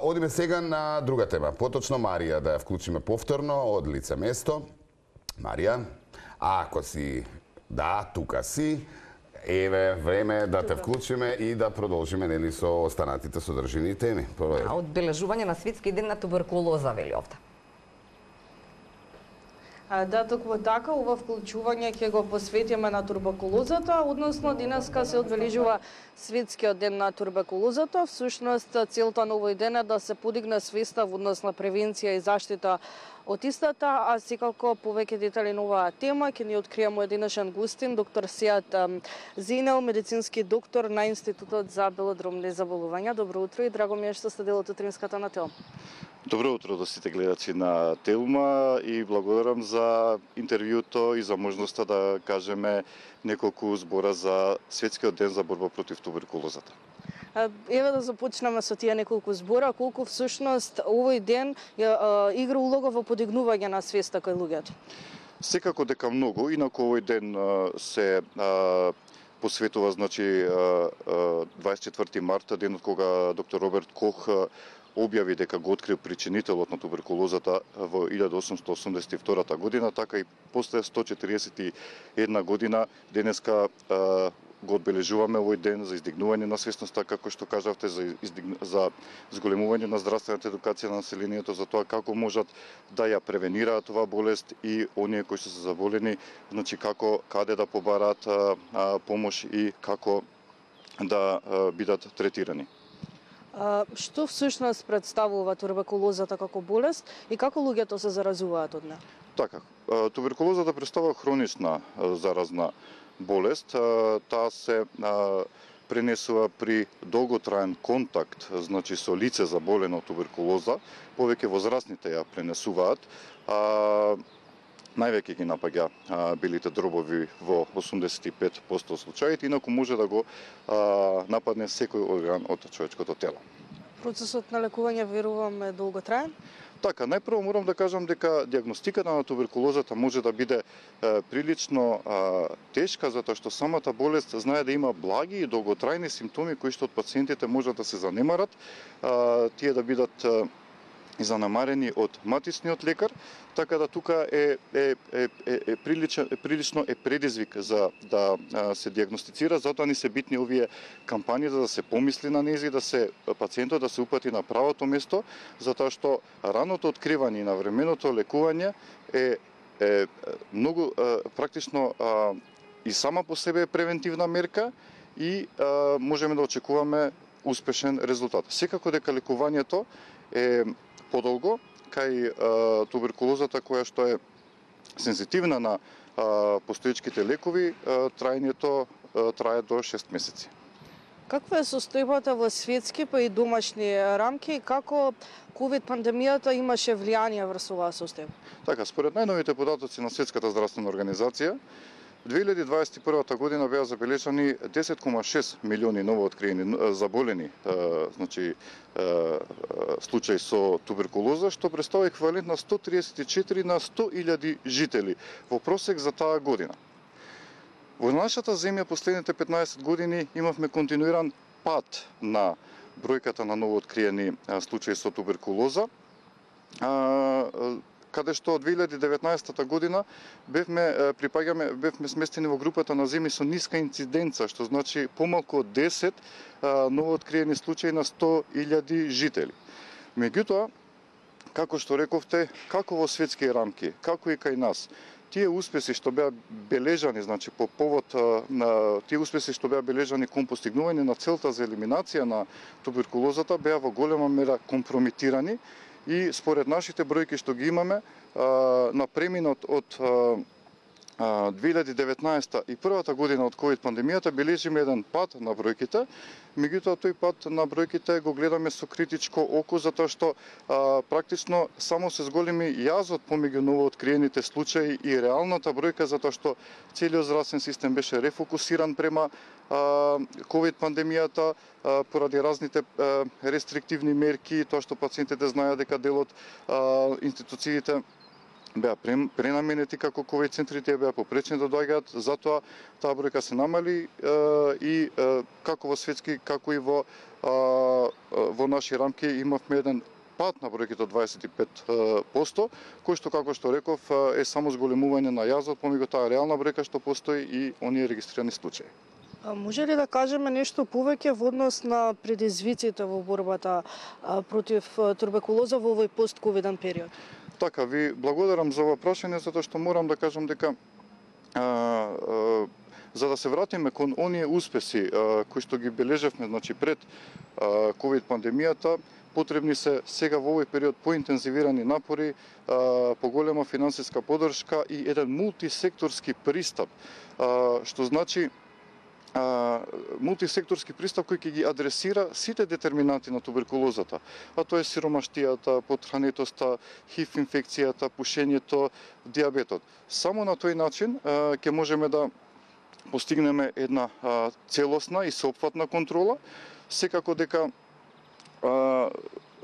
Одиме сега на друга тема. Поточно Марија да ја вклучиме повторно од лице место. Марија, ако си, да, тука си, еве време да те вклучиме и да продолжиме нели со останатите содржини теми. Одбележување на светски ден на туберкулоза, вели овде. Да, токму така, ова вклучување ќе го посветиме на туберкулозата, односно денеска се одбележува светскиот ден на туберкулозата. Всушност, целта на овој ден е да се подигне свеста во однос на превенција и заштита од истата, а секако повеќе детали на оваа тема ќе ни открие мој денешен гостин, доктор Сеат Зенел, медицински доктор на Институтот за белодробни заболувања. Добро утро и драго ми е што сте дел од утринската на Телма. Добро утро до сите гледачи на Телма и благодарам за интервјуто и за можноста да кажеме неколку збора за Светскиот ден за борба против туберкулозата. Еве да започнеме со тие неколку збора, колку всушност овој ден игра улога во подигнување на свеста кај луѓето. Секако дека многу, инаку овој ден се посветува, значи 24 марта, денот кога доктор Роберт Кох објави дека го открил причинителот на туберкулозата во 1882 година, така и после 141 година денеска го одбележуваме овој ден за издигнување на свесноста, како што кажавте, за зголемување на здравствената едукација на населението, за тоа како можат да ја превенираат оваа болест и оние кои се заболени, значи како, каде да побараат помош и како да бидат третирани. Што всушност представува туберкулозата како болест и како луѓето се заразуваат од неа? Така, туберкулозата представува хронична заразна болест. Таа се пренесува при долготраен контакт, значи со лице заболено од туберкулоза. Повеќе возрастните ја пренесуваат. Највеќе ги напаѓа белите дробови во 85% случаите, инаку може да го нападне секој орган од човечкото тело. Процесот на лекување, верувам, е долготраен? Така, најпрво морам да кажам дека диагностиката на туберкулозата може да биде прилично тешка, затоа што самата болест знае да има благи и долготрајни симптоми кои што од пациентите можат да се занемарат, тие да бидат и занемарени од матичниот лекар, така да тука прилично предизвик за да се диагностицира, затоа ни се битни овие кампањи за да се помисли на нези, да се пациентот да се упати на правото место, затоа што раното откривање и навременото лекување е многу практично и сама по себе е превентивна мерка и можеме да очекуваме успешен резултат. Секако дека лекувањето е подолго, кај туберкулозата која што е сензитивна на постоечките лекови, траењето трае до 6 месеци. Каква е состојбата во светски па и домашни рамки и како ковид пандемијата имаше влијание врз оваа состојба? Така, според најновите податоци на Светската здравствена организација, 2021 година беа забележани 10,6 милиони новооткриени заболени, значи случаи со туберкулоза, што представува еквивалент на 134 на 100.000 жители во просек за таа година. Во нашата земја последните 15 години имавме континуиран пад на бројката на новооткриени случаи со туберкулоза, каде што од 2019 година бевме сместени во групата на земји со ниска инциденца, што значи помалку од 10 новооткриени случаи на 100.000 жители. Меѓутоа, како што рековте, како во светски рамки, како и кај нас, тие успеси што беа бележани, значи по повод на тие успеси што беа бележани кон постигнување на целта за елиминација на туберкулозата беа во голема мера компромитирани. И според нашите бројки што ги имаме, на преминот од 2019 и првата година од ковид пандемијата бележиме еден пад на бројките, меѓутоа тој пад на бројките го гледаме со критичко око, затоа што практично само се зголеми јазот помеѓу новооткриените случаи и реалната бројка, затоа што целиот здравствен систем беше рефокусиран према ковид пандемијата поради разните рестриктивни мерки, тоа што пациентите знаеа дека дел од институциите беа пренаменети како ковид центри, тие беа попречени да доаѓаат, затоа таа бројка се намали и како во светски, како и во наши рамки имавме еден пад на бројките од 25%, кој што, како што реков, е само зголемување на јазот помеѓу таа реална бројка што постои и оние регистрирани случаи. Може ли да кажеме нешто повеќе во однос на предизвиците во борбата против туберкулоза во овој пост-ковиден период? Така, ви благодарам за ова прашање, затоа што морам да кажам дека за да се вратиме кон оние успеси кои што ги бележевме, значи пред ковид пандемијата, потребни се сега во овој период поинтензивирани напори, поголема финансиска поддршка и еден мултисекторски пристап, што значи мултисекторски пристап кој ќе ги адресира сите детерминанти на туберкулозата, а тоа е сиромаштијата, потхранетоста, ХИВ инфекцијата, пушењето, дијабетот. Само на тој начин ќе можеме да постигнеме една целосна и сеопфатна контрола. Секако дека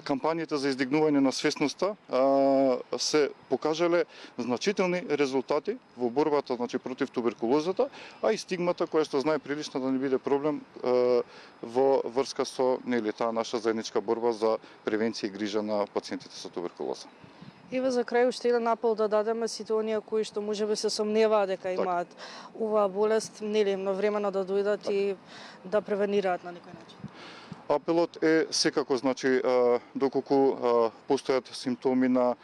кампањите за издигнување на свесноста се покажале значителни резултати во борбата, значи, против туберкулозата, а и стигмата која што знае прилично да не биде проблем во врска со таа наша заедничка борба за превенција и грижа на пациентите со туберкулоза. Еве за крај уште еден апел да дадеме сите оние кои што можеби се сомневаат дека имаат оваа болест, навремено да дојдат и да превенираат на некој начин. Апелот е секако, значи, доколку постојат симптоми на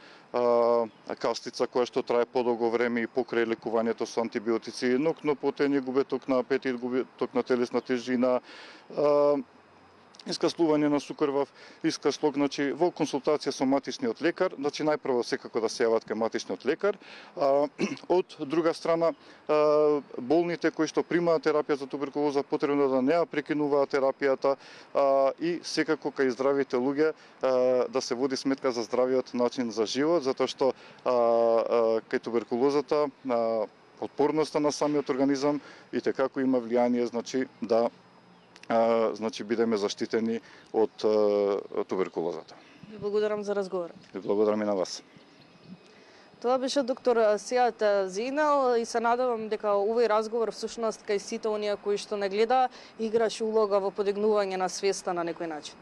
кастица која што трае подолго време и покрај лекувањето со антибиотици, нокнопотење, губеток на апетит, губеток на телесна тежина, искаслување на сукрвав искашлок, значи во консултација со матичниот лекар, значи најпрво секако да се јават кај матичниот лекар. Од друга страна, болните кои што примаат терапија за туберкулоза потребно да не ја прекинуваат терапијата и секако кај здравите луѓе да се води сметка за здравиот начин за живот, затоа што кај туберкулозата отпорноста на самиот организам и како има влијание, значи да бидеме заштитени од туберкулозата. Ви благодарам за разговорот. Ви благодарам и на вас. Тоа беше доктор Сеат Зейнал и се надевам дека овој разговор всушност кај сите оние кои што не гледа играше улога во подигнување на свеста на некој начин.